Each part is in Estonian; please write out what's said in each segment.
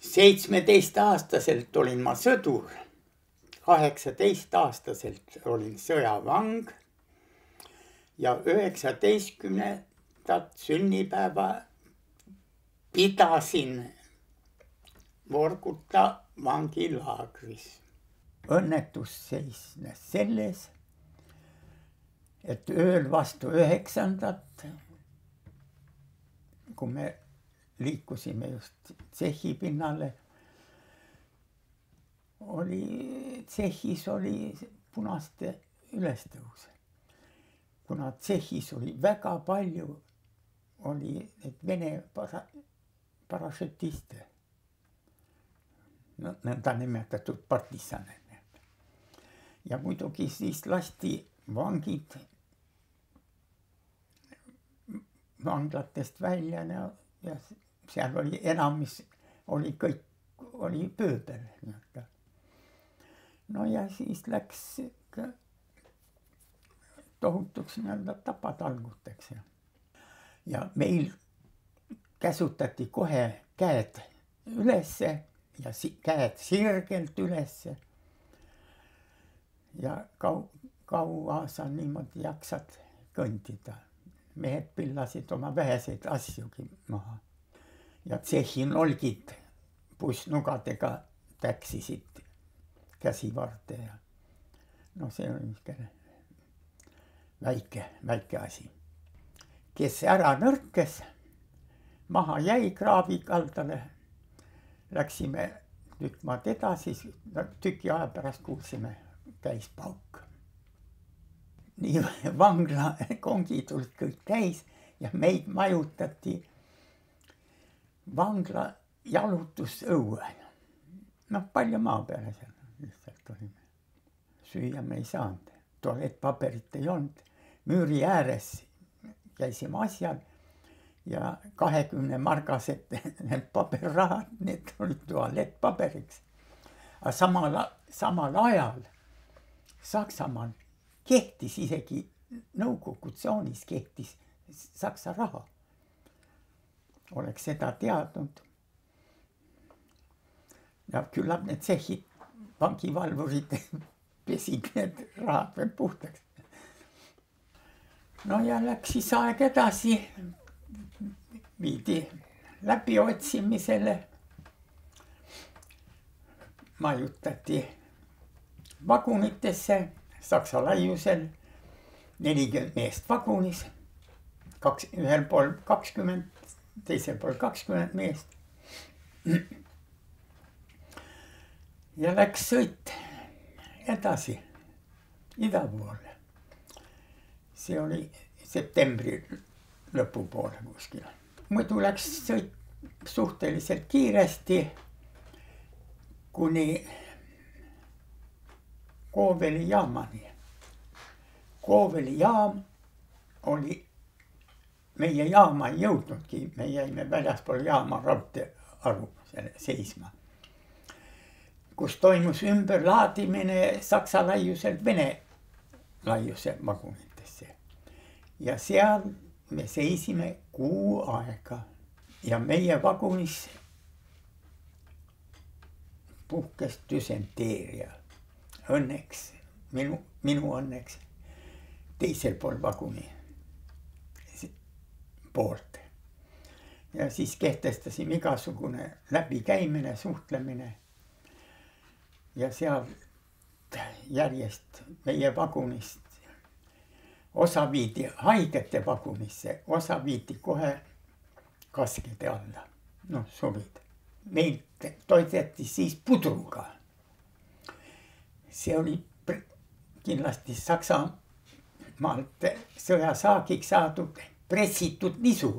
17-aastaselt olin ma sõdur, 18-aastaselt olin sõjavang ja 19. sünnipäeva pidasin Vorkuta vangilaagris. Õnnetus seisnes selles, et ööl vastu 9. kui me liikusime just tsehhi pinnale, tsehhis oli punaste ülestõus. Kuna tsehhis oli väga palju, oli neid Vene parašütiste, nõnda nimetatud partisane. Ja muidugi siis lasti vangid vanglatest välja ja seal oli enamus, oli pööbel. No ja siis läks tohutuks tapatalguteks. Ja meil käsutati kohe käed ülesse ja käed sirgelt ülesse. Ja kaua sa niimoodi jaksad kõndida. Mehed pillasid oma väheseid asjugi maha. Ja tsehhin olgid pussnugadega täksisid käsivarde. No see oli väike asi. Kes ära nõrkes, maha jäi kraavi kaldale. Läksime tükk maad edasi, tüki aja pärast kuulsime, käis pauk. Nii vangla kongid olid kõik täis ja meid majutati vangla jalutusõue. Palju maa peale seal lihtsalt olime. Süüa me ei saanud, tualettpaberit ei olnud. Müüri ääres käisime asjal ja 20 margased need paberrahad, need olid tualettpaberiks. Aga samal ajal Saksamaal kehtis isegi nõukogutsoonis kehtis saksa raha. Oleks seda teadnud. Ja küllap need tsehhid, vangivalvurid pesid need rahad veel puhtaks. No ja läks siis aeg edasi, viidi läbi otsimisele. Majutati vagunitesse. Saksa laiusel 40 meest vagunis, ühel pool 20, teisel pool 20 meest. Ja läks sõit edasi ida poole. See oli septembri lõpupoole kuskil. Muidu läks sõit suhteliselt kiiresti kuni Kooveli jaamani. Kooveli jaam oli, meie jaama ei jõudnudki, me jäime väljaspool jaama raudteearu seisma, kus toimus ümberlaadimine saksa laiuselt Vene laiuse vagunitesse. Ja seal me seisime kuu aega ja meie vagunis puhkes düsenteeria. Õnneks, minu õnneks, teisel pool vaguni poolt. Ja siis kehtestasime igasugune läbikäimine, suhtlemine. Ja seal järjest meie vagunist osa viidi haigete vagunisse, osa viidi kohe kaskede alla. Surid. Meid toideti siis pudruga. See oli kindlasti Saksamaalt sõjasaagiks saadud pressitud nisu,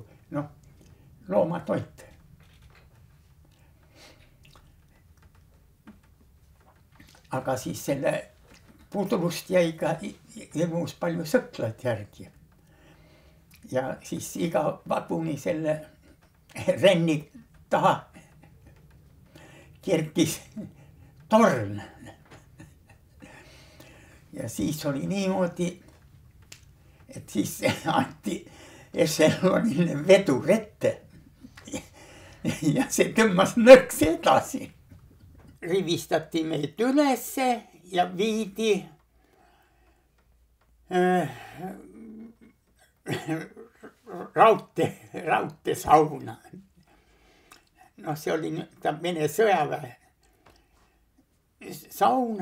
loomatoit. Aga siis selle pudrust jäi ka hirmus palju sõklaid järgi. Ja siis iga vaguni selle renni taha kerkis torn. Ja siis oli niimoodi, et siis anti ešelonile vedur ette ja see tõmbas nõks edasi. Rivistati meid ülesse ja viidi raudteesauna. Noh, see oli Vene sõjaväe saun.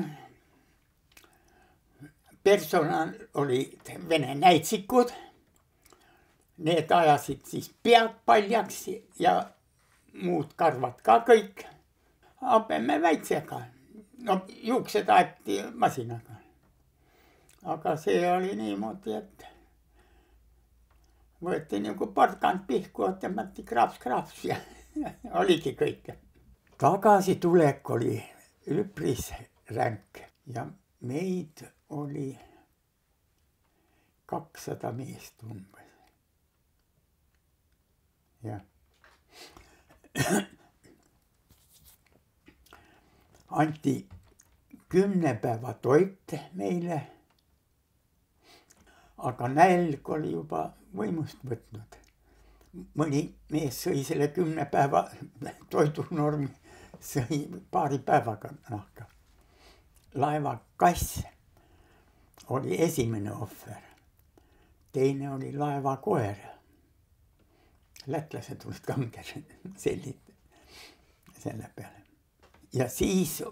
Personal olid Vene näitsikud. Need ajasid siis pead paljaks ja muud karvad ka kõik. Habeme väitsega. No juuksed aeti masinaga. Aga see oli niimoodi, et võeti nagu porgand pihku, tõmmati kraaps ja oligi kõik. Tagasitulek oli üpris ränk ja meid oli 200 meest umbes. Ja. Anti 10 päeva toit meile, aga nälg oli juba võimust võtnud. Mõni mees sõi selle 10 päeva toidunormi, sõi paari päevaga nahka. Laeva kass oli esimene ohver, teine oli laeva koer. Lätlased olid kanged sellid selle peale. Ja siis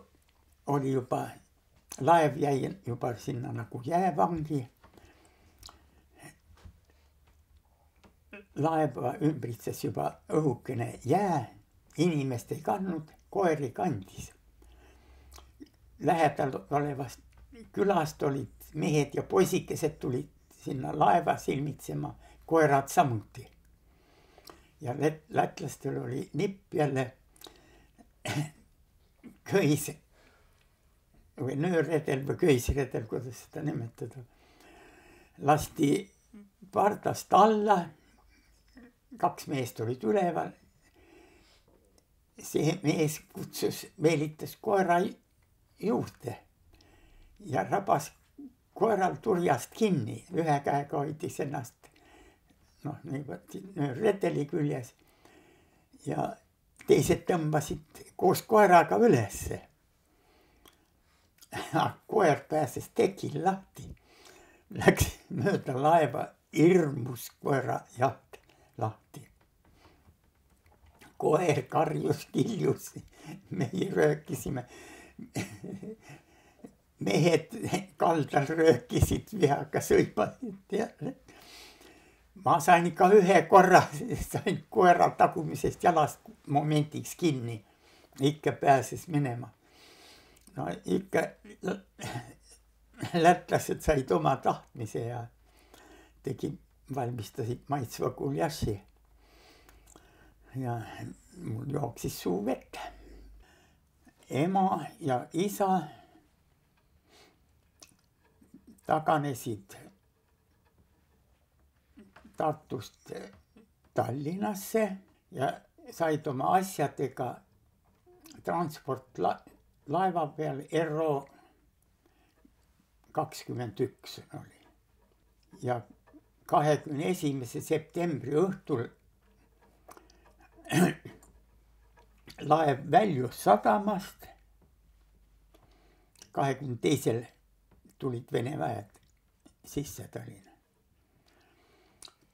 oli juba, laev jäi juba sinna nagu jäävangi. Laeva ümbritses juba õhukene jää, inimest ei kandnud, koeri kandis. Lähedal olevast külast olid mehed ja poisikesed tulid sinna laeva silmitsema, koerad samuti. Ja lätlastel oli nipp jälle köis või nöörredel või köisredel, kuidas seda nimetada. Lasti pardast alla, 2 meest olid üleval. See mees meelitas koera juurde ja rabas koeral turjast kinni. Ühe käega hoidis ennast redeli küljes ja teised tõmbasid koos koeraga ülesse. Koer pääses tekil lahti, läks mööda laeva, hirmus koera jaht lahti. Koer karjus, kiljus, meie röökisime. Mehed kaldal röökisid vihaga, sõimasid. Ma sain ikka ühe korra, sain koera tagumisest jalast momentiks kinni. Ikka pääses minema. No ikka lätlased said oma tahtmise ja valmistasid maitsva guljaši. Ja mul jooksis suu vett. Ema ja isa taganesid Tartust Tallinnasse ja said oma asjadega transport laeva peal RO 21 oli. Ja 21. septembri õhtul laev väljus sadamast. 22. tulid Vene väed sisse Tallinna.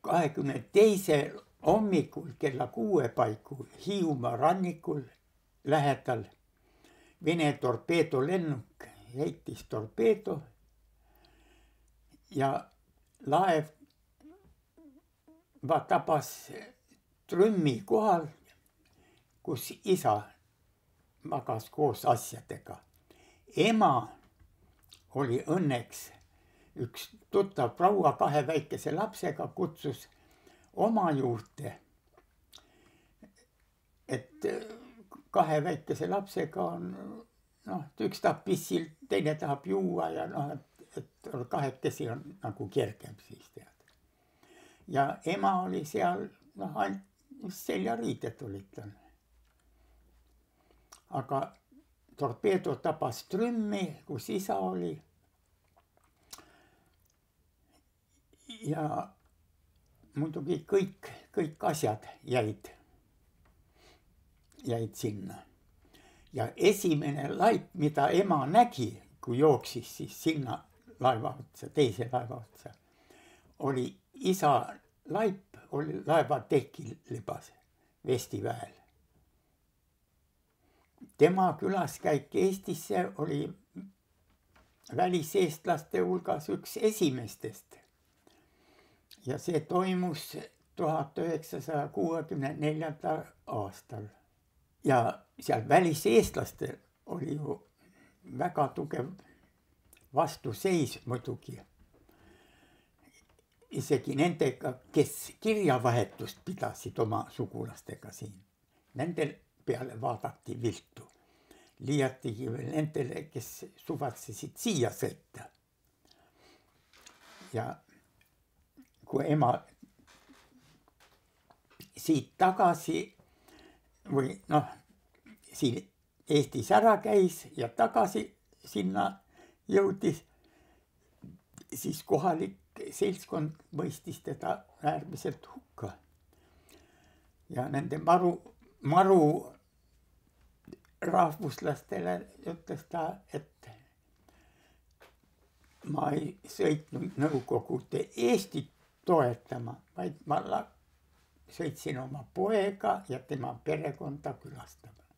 22. hommikul kella 6 paiku Hiiumaa rannikul lähedal Vene torpeedolennuk heitis torpeedo ja laev tabas trümmi kohal, kus isa magas koos asjadega. Ema oli õnneks üks tuttav proua 2 väikese lapsega, kutsus oma juurde, et 2 väikese lapsega on, üks tahab pissil, teine tahab juua ja et 2 on nagu kergem siis tead. Ja ema oli seal, seljariided olid tal. Aga torpeedo tabas trümmi, kus isa oli. Ja muidugi kõik asjad jäid jäid sinna. Ja esimene laip, mida ema nägi, kui jooksis siis sinna laeva otsa, teise laeva otsa, oli isa laip, oli laeva tekil libas Vestiväel. Tema külaskäik Eestisse oli väliseestlaste hulgas üks esimestest. Ja see toimus 1964. aastal. Ja seal väliseestlastel oli ju väga tugev vastuseis muidugi. Isegi nendega, kes kirjavahetust pidasid oma sugulastega siin. Nendel peale vaadati viltu. Liiatigi veel nendele, kes suvatsesid siia sõita. Ja kui ema siit tagasi või noh, siin Eestis ära käis ja tagasi sinna jõudis, siis kohalik seltskond mõistis teda äärmiselt hukka. Ja nende maru rahvuslastele ütles ta, et ma ei sõitnud Nõukogude Eestit toetama, vaid ma sõitsin oma poega ja tema perekonda külastama.